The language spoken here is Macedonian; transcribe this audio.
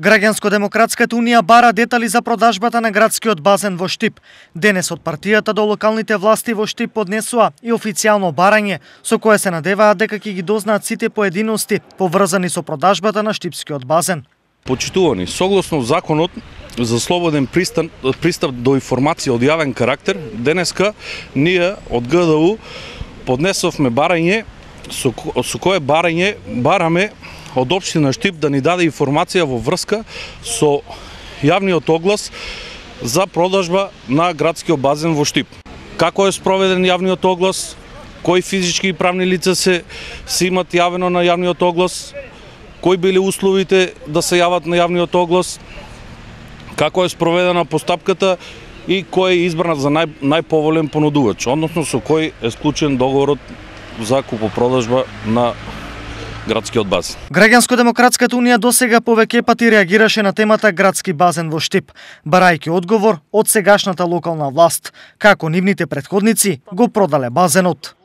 Граѓанско-демократската унија бара детали за продажбата на градскиот базен во Штип. Денес од партијата до локалните власти во Штип поднесува и официјално барање со кое се надеваат дека ќе ги дознаат сите поединости поврзани со продажбата на штипскиот базен. Почитувани, согласно законот за слободен пристап до информација од јавен карактер, денеска ние од ГДУ поднесовме барање со кое барање бараме од општина Штип да ни даде информација во врска со јавниот оглас за продажба на градскиот базен во Штип. Како е спроведен јавниот оглас, кои физички и правни лица се имат јавено на јавниот оглас, кои биле условите да се јават на јавниот оглас, како е спроведена постапката и кој е избран за најповолен понудувач, односно со кој е склучен договорот за купопродажба на градскиот базен. Граѓанско-демократската унија досега повеќе пати реагираше на темата градски базен во Штип, барајќи одговор од сегашната локална власт, како нивните претходници го продале базенот.